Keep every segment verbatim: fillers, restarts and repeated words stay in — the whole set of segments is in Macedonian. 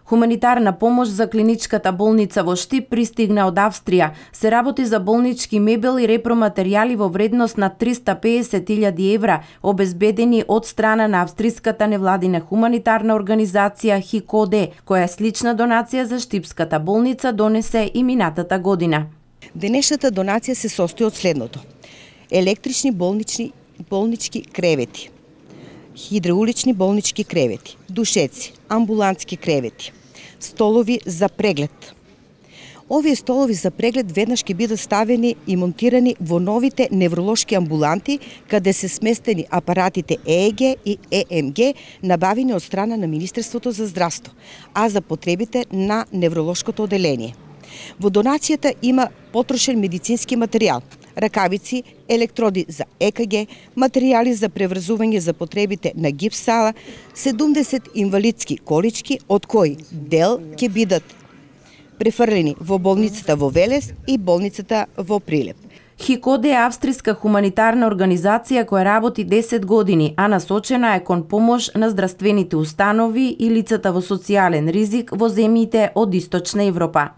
Хуманитарна помош за клиничката болница во Штип пристигна од Австрија. Се работи за болнички мебел и репроматеријали во вредност на триста песет илјади евра, обезбедени од страна на австриската невладина хуманитарна организација ХИКОДЕ, која слична донација за Штипската болница донесе и минатата година. Денешната донација се состои од следното: електрични болнични болнички кревети, хидраулични болнички кревети, душеци, амбулантски кревети, столови за преглед. Овие столови за преглед веднаш ќе бидат ставени и монтирани во новите невролошки амбуланти, каде се сместени апаратите ЕЕГ и ЕМГ, набавени од страна на Министерството за здравство, а за потребите на невролошкото оделение. Во донацијата има потрошен медицински материјал, ракавици, електроди за ЕКГ, материјали за преврзување за потребите на гипс сала, седумдесет инвалидски колички, од кои дел ќе бидат префрлени во болницата во Велес и болницата во Прилеп. ХИКОДЕ е австриска хуманитарна организација која работи десет години, а насочена е кон помош на здравствените установи и лицата во социјален ризик во земјите од Источна Европа.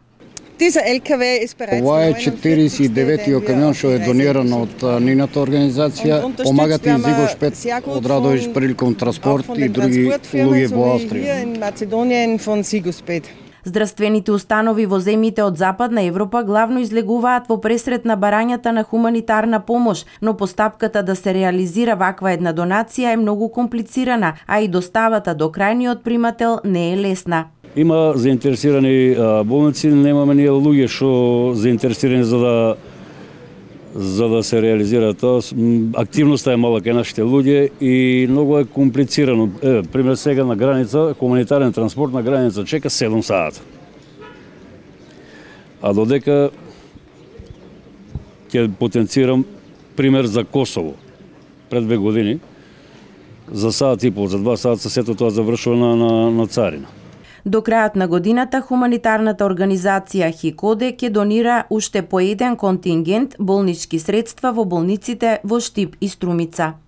Ова е четириесет и деветиот камион што е дониран од нивната организација. Помагат и Зигош пет од Радович приликом транспорт и други улоги во Австрија. Здравствените установи во земјите од Западна Европа главно излегуваат во пресрет на барањата на хуманитарна помош, но постапката да се реализира ваква една донација е многу комплицирана, а и доставата до крајниот примател не е лесна. Има заинтересирани болници, немаме ние луѓе што заинтересирани за да за да се реализира тоа. Активноста е мала кај нашите луѓе и многу е комплицирано. Е, пример сега на граница, хуманитарен транспорт на граница чека седум сата. А додека ќе потенцирам пример за Косово пред две години, за саат и пол, за два сата сето тоа завршува на, на, на царина. До крајот на годината хуманитарната организација ХИКОДЕ ќе донира уште по еден контингент болнички средства во болниците во Штип и Струмица.